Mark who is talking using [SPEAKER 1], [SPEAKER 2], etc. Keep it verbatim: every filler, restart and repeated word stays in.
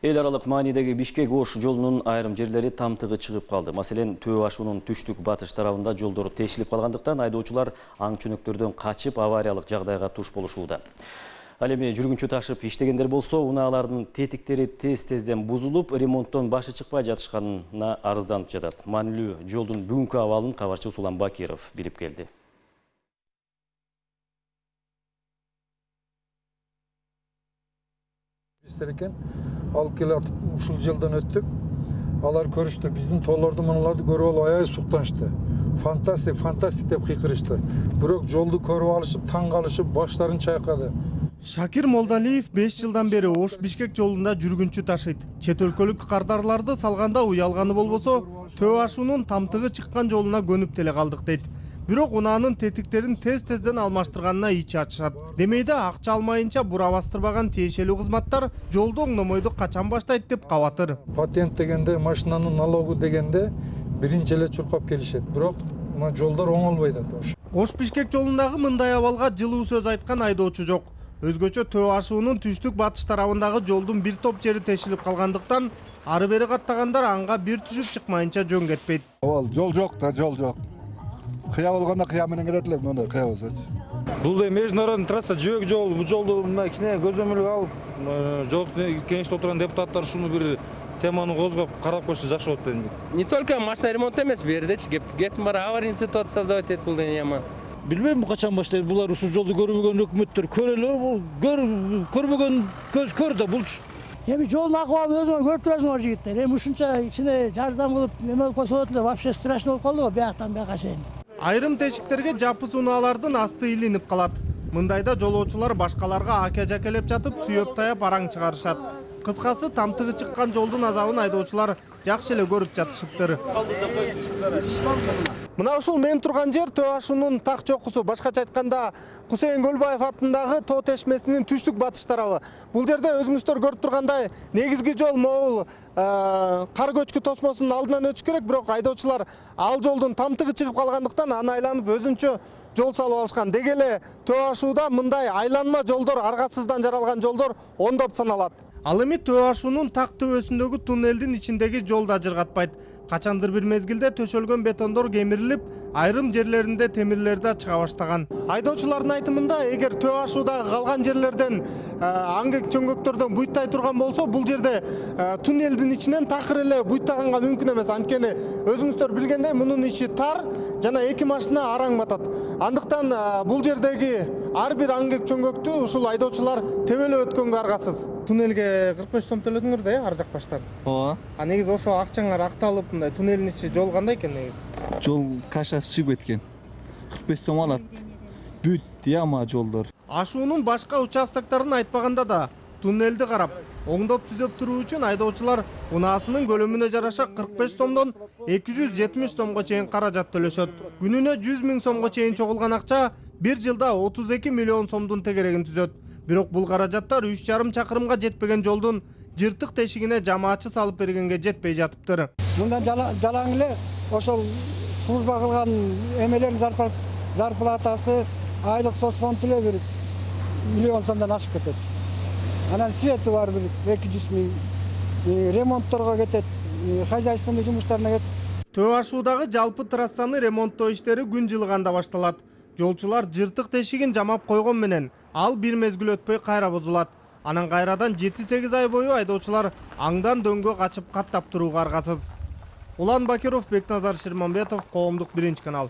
[SPEAKER 1] Эл аралык маанидеги Бишкек-Ош жолунун айрым жерлери тамтыгы чыгып калды. Маселен, Төө ашуунун түштүк-батыш тарабында жолдор тешилип калгандыктан айдоочулар аң чөнөктөрдөн качып авариялык жагдайга туш болушууда. Ал эми жүргүнчү ташып иштегендер болсо, унаалардын тетиктери тез-тезден бузулуп, ремонттон башы чыкпай жатышканына арызданып жатат. Маанилүү жолдун бүгүнкү абалын кабарчы Усулан Бакиров билип келди.
[SPEAKER 2] Экен алып келатып ушул жылдан өттүк. Алар көрүштү, биздин тоолорду мыналарды көрүп алып аябай суктанышты. Фантастик, фантастик деп кыйкырышты. Бирок жолду көрүп алышып, таң калышып, баштарын чайкады.
[SPEAKER 3] Шакир Молдалиев беш жылдан бери Ош-Бишкек жолунда жүргүнчү ташыйт. Чет өлкөлүк кардарларды салганда уялганы болбосо, Төө ашуунун тамтыгы чыккан жолуна көнүп деле калдык дейт. Бирок унаанын тетиктерин тез-тезден алмаштырганына ичи ачышат. Демейде акча алмайынча бура бастырбаган тиешелүү кызматтар жолду оңдомойду качан баштайт деп кабатыр.
[SPEAKER 2] Патент дегенде, машинанын налогу дегенде биринчи эле чуркап келишет. Бирок мына жолдор оңолбойт атабыз.
[SPEAKER 3] Ош-Бишкек жолундагы мындай абалга жылуу сөз айткан айдоочу жок. Өзгөчө Төө ашуунун түштүк-батыш тарабындагы жолдун бир топ жери тешилип калгандыктан ары бери каттагандар анга бир түшүп чыкмайынча жөн кетпейт.
[SPEAKER 4] Ол жол жок да, жол жок. Кыя болгондо кыя менен кетет эле, мындай кыя болсочу.
[SPEAKER 5] Бул да международный трасса, жөөк жол, бул жолду мына кичине көзөмөлгө алып, жок кеңеште отурган депутаттар ушуну бир теманы козгоп карап койсо жакшы болот дейм.
[SPEAKER 6] Не только машина ремонту эмес, бул жердечи кептин бара аварийный ситуация создавать этет бул яма.
[SPEAKER 7] Билбейм качан баштайт, булар ушул жолду көрбөгөн өкмөттөр көрөлү, бул көрбөгөн көз көр да булчу.
[SPEAKER 8] Эми жолдун акыбалын өзүңөр көрүп турасыңар жигиттер. Эми ушунча ичине жардам кылып эме болуп койсо болот эле, вообще страшно болуп калды го бияктан бияка чейин.
[SPEAKER 3] Айрым тешиктерге жапыз унаалардын асты илинип калат. Мындайда жолоочулар башкаларга аке-жакелеп жатып, сүйөп таяп араң чыгарышат. Кыскасы, тамтыгы чыккан жолдун азабын айдоочулар жакшы эле көрүп жатышыптыр. Мына ушул мен турган жер Төө ашуунун так чокусу, башкача айтканда Кусейин Көлбаев атындагы Тоо тешмесинин түштүк-батыш тарабы. Бул жерде өзүңүздөр көрүп тургандай негизги жол могул кар көчкү тосмосунун алдынан өтүш керек, бирок айдоочулар ал жолдун тамтыгы чыгып калгандыктан аны айланып өзүнчө жол салып алышкан. Деги эле Төө ашууда мындай айланма жолдор, аргасыздан жаралган жолдор ондоп саналат. Ал эми Төө ашуунун так төбөсүндөгү туннелдин ичиндеги жол да жыргатпайт. Качандыр бир мезгилде төшөлгөн бетондор кемирилип, айрым жерлеринде темирлер да чыга баштаган. Айдоочулардын айтымында, эгер Төө ашуудагы калган жерлерден аңгек чөңгөктөрдөн буйттай турган болсо, бул жерде туннелдин ичинен такыр эле буйтаганга мүмкүн эмес. Анткени өзүңүздөр билгендей, мунун ичи тар жана эки машина араң батат. Андыктан бул жердеги ар бир аңгек чөңгөктү ушул айдоочулар тебелеп өткөнгө аргасыз. Туннелге кырк беш сом төлөдүңөр да, э, ар жак баштан.
[SPEAKER 9] Ооба.
[SPEAKER 3] А негизи ошо акчаңар акталып, мындай туннелдин ичи жол кандай экен негизи?
[SPEAKER 9] Жол кашасы чыгып кеткен. кырк беш сом алат. Бүт яма жолдор.
[SPEAKER 3] Ашуунун башка участоктарын айтпаганда да туннелди карап, оңдоп түзөп туруу үчүн айдоочулар унаасынын көлөмүнө жараша кырк беш сомдон эки жүз жетимиш сомго чейин каражат төлөшөт. Күнүнө жүз миң сомго чейин чогулган акча бир жылда отуз эки миллион сомдун тегерегин түзөт. Бирок бул каражаттар үч жарым чакырымга жетпеген жолдун жыртык тешигине жамаачы салып бергенге жетпей жатыптыр.
[SPEAKER 10] Мындан жалаң эле ошол служба кылган эмелердин зарплатасы айлык соцфонд эле бир миллион сомдон ашып кетет. Анан свети бар бир эки жүз миң, ремонтторго кетет, хозяйственный жумуштарына кетет.
[SPEAKER 3] Төө ашуудагы жалпы трассаны ремонттоо иштери күн жылыганда башталат. Жолчулар жыртык тешигин жамап койгон менен ал бир мезгил өтпөй кайра бузулат. Анан кайрадан жети сегиз ай бою айдоочулар аңдан дөңгө качып каттап турууга аргасыз. Улан Бакиров, Бекназар Шермамбетов, Коомдук биринчи канал.